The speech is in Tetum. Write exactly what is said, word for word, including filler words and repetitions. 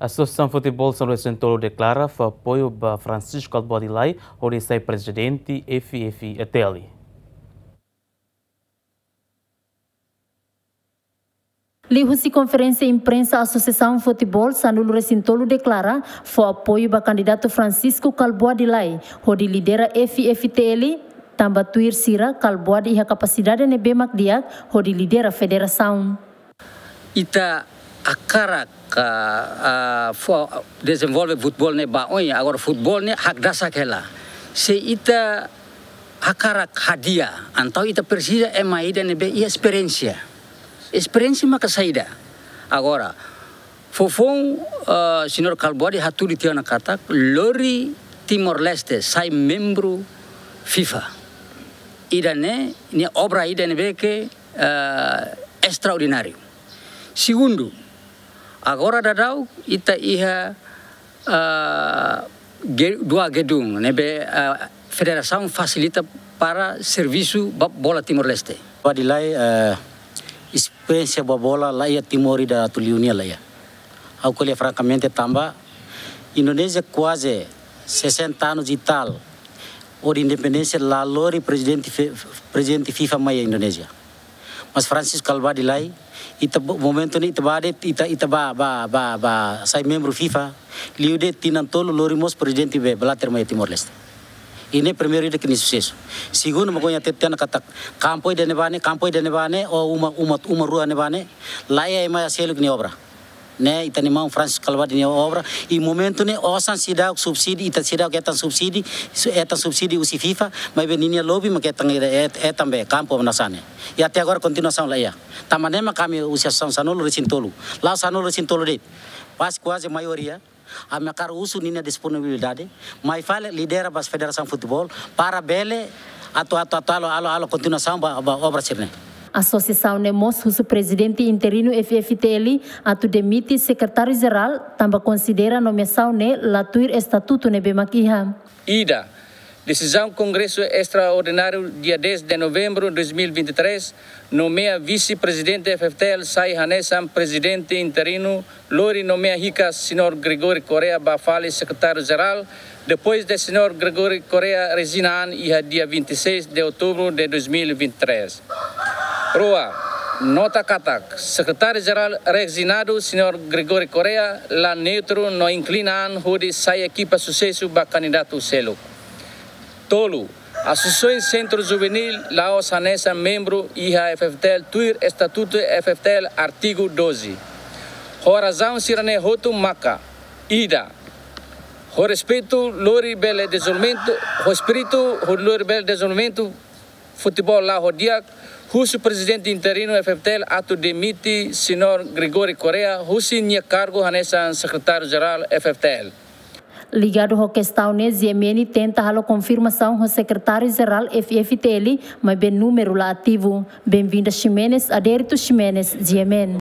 Asosiasaun Futeból Sanulu-resin-tolu deklara fó apoiu ba Francisco Kalbuadi Lay hodi sai prezidente F F T L. Liuhusi konferénsia imprensa, Asosiasaun Futeból Sanulu-resin-tolu deklara fó apoiu ba kandidatu Francisco Kalbuadi Lay hodi lidera F F T L, tanba tuir sira Kalbuadi iha kapasidade ne'ebé mak di'ak hodi lidera federasaun. Ita hakarak, ah, ah, fó, dezenvolve futeból ne'e ba oin, agora futeból ne'e hakdasak hela. Se ita hakarak hadi'a, entaun ita presiza ema ida ne'ebé iha esperiénsia. Esperiénsia maka saida. Agora, foufoun, ah, señór Kalbuadi hatudu tiha ona katak lori Timor-Leste sai membru FIFA. Ida-ne'e, ne'e obra ida ne'ebé ke, ah, estraordináriu. Segundu, agora daudaun ita iha, ah, ge-, dua gedung ne'ebé, ah, federasaun fasilita para servisu ba-, bola Timor-Leste. Kalbuadi Lay, eh, esperiénsia ba bola la iha Timor ida atu liu nia la iha. Ha'u ko'alia frankamente tanba Indonézia kuaze sesenta anos e tal, hodi independénsia la lori prezidente fe-, prezidente FIFA mai Indonézia. Mas Francisco Kalbuadi Lay, ita bo-, momentu ne'e ita ba de'it, ita, ita ba, ba, ba, ba sai membru FIFA, liu de'it tinan tolu lori mós prezidente be Blatter mai Timor-Leste. Ida-ne'e primeiru ida ke nia susesu. Segundu, mak ohin hatete tiha ona katak kampu ida-ne'ebá ne'e, kampu ida-ne'ebá ne'e, ou uma, uma, uma rua ne'ebá ne'e, la iha ema seluk nia obra. Ne'e ita-nia maun Francisco Kalbuadi nia obra, i momentu ne'e osan seidauk subsidi, ita seidauk hetan subsidi, su-, hetan subsidi husi FIFA, maibé ninia lobby mak hetan, het-, hetan be kampu hanesan ne'e. I até agora kontinuasaun la iha. Tanba ne'e mak ami husi Asosiasaun Sanulu-resin-tolu. La'ós Sanulu-resin-tolu de'it. Pas kuaze maioria, ami hakarak husu ninia disponibilidade, mai fali lidera ba federasaun futeból, para bele atu, atu, atu halo, halo, halo kontinuasaun ba, ba obra sira-ne'e. Asosiasaun ne'e mós husu prezidente interinu F F T L atu demite sekretáriu jerál, tanba konsidera nomeasaun ne'e la tuir estatutu ne'ebé mak iha. Ida, desizaun Kongresu Estraordináriu dia dez de novembro dois mil e vinte e três, nomeia vise-prezidente F F T L sai hanesan prezidente interinu, lori nomeia hikas señór Gregory Correia ba fali sekretáriu jerál, depois de señór Gregory Correia rezigna an iha dia vinte e seis de outubro de dois mil e vinte e três. Rua, nota katak sekretáriu jerál rezignadu señór Gregory Correia la neutru no inklina an hodi sai ekipa susesu ba kandidatu seluk. Tolu, Asosiasaun Sentru Juvenil la'ós hanesan membru iha F F T L tuir estatutu F F T L artigu doze. Ho razaun sira-ne'e hotu maka: ida, ho respeitu lori bele dezenvolvimentu, ho espíritu hodi lori bele dezenvolvimentu futeból la'o ho di'ak, husu prezidente interinu F F T L atu demite señór Gregory Correia husi nia kargu hanesan sekretáriu jerál F F T L. Ligadu ho kestaun ne'e, G M N tenta halo konfirmasaun ho sekretáriu jerál F F T L, maibé númeru la ativu. Benvinda Ximenes, Adérito Ximenes, G M N.